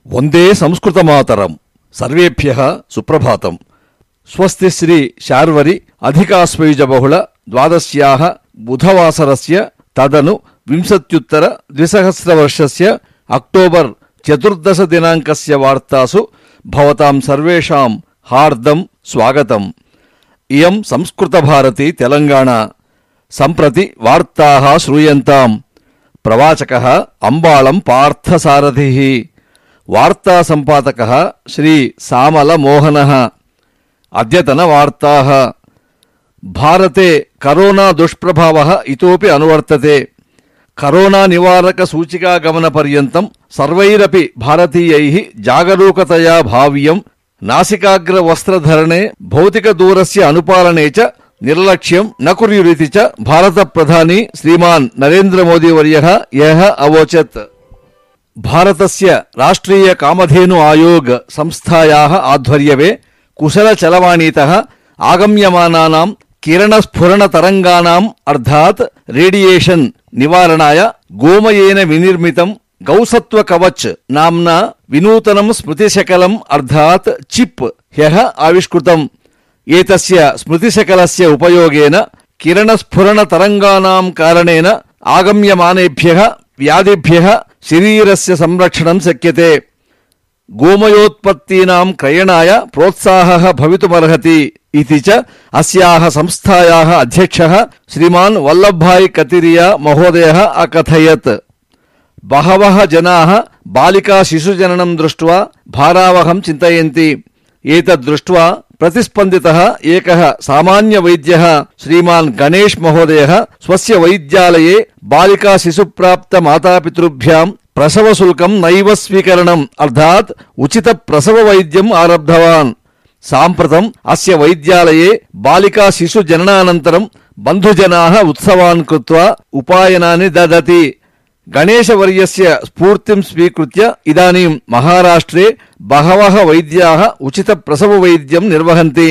वंदे संस्कृतमातरम्। सर्वेभ्यः सुप्रभातम्। स्वस्ति श्री शार्वरी अधिकास्वयुज बहुल द्वादश्याः बुधवासरस्य तदनु विंशत्युत्तर द्विसहस्रवर्षस्य अक्टोबर् 14 दिनाङ्कस्य वार्तासु भवतां सर्वेषां हार्दं स्वागतम्। इयं संस्कृतभारती तेलंगाणा। सम्प्रति वार्ताः श्रूयन्ताम्। प्रवाचकः अंबाळं पार्थसारथिः। वार्ता संपादकः श्री सामल मोहनः। अद्यतन वार्ताः। भारते करोना दुष्प्रभावः इतोपि अनुवर्तते। करोना निवारक सूचिकागमनपर्यन्तं सर्वैरपि भारतीयैः जागरूकतया भाव्यं। नासिकाग्रवस्त्रधरणे भौतिकदूरस्य अनुपालने च निर्लक्ष्यं न कुर्युरिति च भारतप्रधानी श्रीमान् नरेन्द्रमोदीवर्यः ह्यः अवोचत्। भारतस्य राष्ट्रीय कामधेनु आयोग संस्थायाः आध्वर्यवे कुशलचलवाणीतः आगम्यमानानां किरणस्फुरणतरङ्गानाम् अर्थात् रेडियेशन् निवारणाय गोमयेन विनिर्मितं गौसत्वकवच नाम्ना विनूतनं स्मृतिशकलम् अर्थात् चिप् ह्यः आविष्कृतम्। एतस्य स्मृतिशकलस्य उपयोगेन किरणस्फुरणतरङ्गानां कारणेन आगम्यमानेभ्यः व्याधिभ्यः शरीरस्य संरक्षणं शक्यते। गोमयोत्पत्तीनां क्रयणाय प्रोत्साहः भवितुमर्हति इति च अस्याः संस्थायाः अध्यक्षः श्रीमान् वल्लभभाई कतिरिया महोदयः अकथयत्। बहवः जनाः बालिका शिशुजननं दृष्ट्वा भारावहं चिन्तयन्ति। एतद् दृष्ट्वा प्रतिस्पन्दितः एकः सामान्यवैद्यः श्रीमान् गणेश महोदयः स्वस्य वैद्यालये बालिका शिशुप्राप्त मातापितृभ्यां प्रसवशुल्कं नैव स्वीकरणम् अर्थात् उचित प्रसव वैद्यम् आरब्धवान्। साम्प्रतम् अस्य वैद्यालये बालिका शिशु जननानन्तरं बन्धुजनाः उत्सवान् कृत्वा उपायनानि ददति। गणेशवर्यस्य स्फूर्तिं स्वीकृत्य इदानीं महाराष्ट्रे बहवः वैद्याः उचित प्रसव वैद्यं निर्वहन्ति।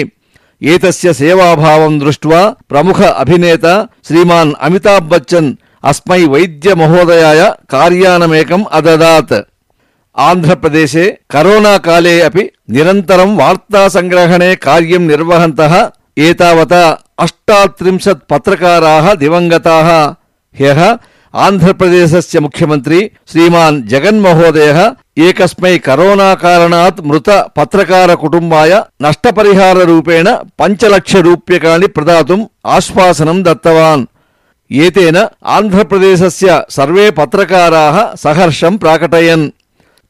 एतस्य सेवाभावं दृष्ट्वा प्रमुख अभिनेता श्रीमान् अमिताभ बच्चन् अस्मै वैद्य महोदयाय कार्यानमेकम् अददात्। आन्ध्रप्रदेशे करोना काले अपि निरन्तरं वार्ता संग्रहणे कार्यं निर्वहन्तः एतावता 38 पत्रकाराः दिवङ्गताः। ह्यः आन्ध्रप्रदेशस्य मुख्यमन्त्री श्रीमान् जगन् महोदयः एकस्मै करोना कारणात् मृत पत्रकार कुटुम्बाय नष्टपरिहाररूपेण 5 लक्ष रूप्यकाणि प्रदातुम् आश्वासनं दत्तवान्। एतेन आन्ध्रप्रदेशस्य सर्वे पत्रकाराः सहर्षं प्राकटयन्।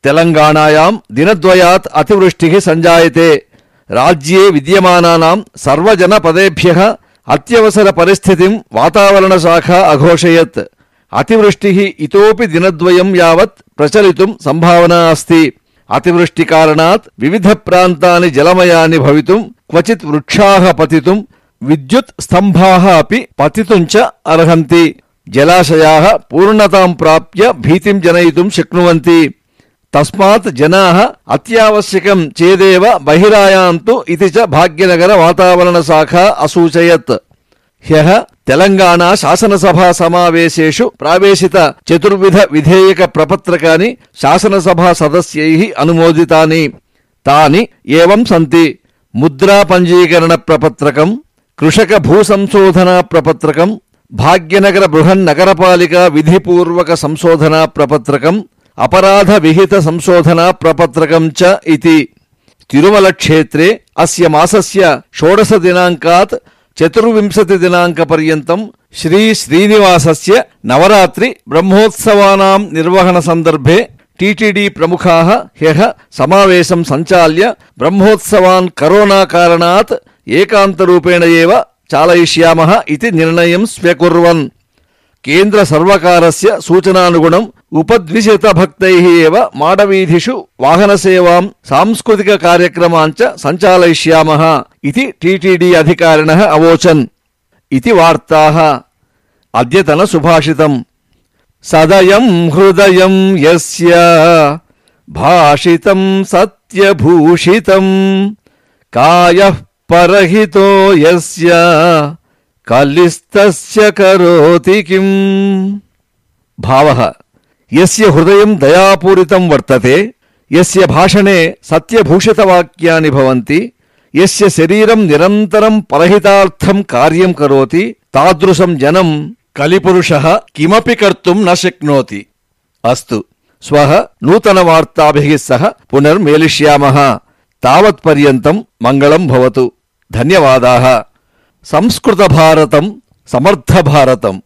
तेलंगाणायां दिनद्वयात् अतिवृष्टिः सञ्जायते। राज्ये विद्यमानानां सर्वजनपदेभ्यः अत्यवसर परिस्थितिं वातावरणशाखा अघोषयत्। अतिवृष्टिः इतोपि दिनद्वयं यावत् प्रचलितुं सम्भावना अस्ति। अतिवृष्टिकारणात् विविध प्रान्तानि जलमयानि भवितुं क्वचित् वृक्षाः पतितुं विद्युत् स्तम्भाः अपि पतितुं च अर्हन्ति। जलाशयाः पूर्णतां प्राप्य भीतिं जनयितुं शक्नुवन्ति। तस्मात् जनाः अत्यावश्यकं चेदेव बहिरायान्तु इति च भाग्यनगर वातावरणशाखा असूचयत्। ह्यः तेलंगाणा शासनसभा समावेशेषु प्रावेशित 4 विधेयक प्रपत्रकानि शासनसभा सदस्यैः अनुमोदितानि। तानि एवं सन्ति: मुद्रा पंजीकरण प्रपत्रकम्, कृषक भूसंशोधना प्रपत्रकम्, भाग्यनगर बृहन्नगरपालिका विधिपूर्वक संशोधना प्रपत्रकम्, अपराध विहित संशोधना प्रपत्रकं च इति। तिरुमल क्षेत्रे अस्य मासस्य 16 दिनाङ्कात् 24 दिनाङ्कपर्यन्तं श्री श्रीनिवासस्य नवरात्रि ब्रह्मोत्सवानां निर्वहण सन्दर्भे टीटीडी प्रमुखाः ह्यः समावेशं सञ्चाल्य ब्रह्मोत्सवान् करोना कारणात् एकान्तरूपेण एव चालयिष्यामः इति निर्णयं स्व्यकुर्वन्। केन्द्र सर्वकारस्य सूचनानुगुणम् उपद्विशतभक्तैः एव माडवीधिषु वाहनसेवां सांस्कृतिक कार्यक्रमान् च सञ्चालयिष्यामः इति टीटीडी अधिकारिणः अवोचन् इति वार्ताः। अद्यतन सुभाषितम्। सदयं हृदयं यस्य भाषितं सत्यभूषितं कायः परहितो यस्य कलिस्तस्य करोति किम्। भावः यस्य हृदयं दयापूरितं वर्तते यस्य भाषणे सत्यभूषितवाक्यानि भवन्ति, यस्य शरीरं निरन्तरं परहितार्थं कार्यं करोति, तादृशं जनं कलिपुरुषः किमपि कर्तुं न शक्नोति। अस्तु, श्वः नूतनवार्ताभिः सह पुनर्मेलिष्यामः। तावत्पर्यन्तं मङ्गलं भवतु। धन्यवादाः। संस्कृतभारतं समर्थभारतम्।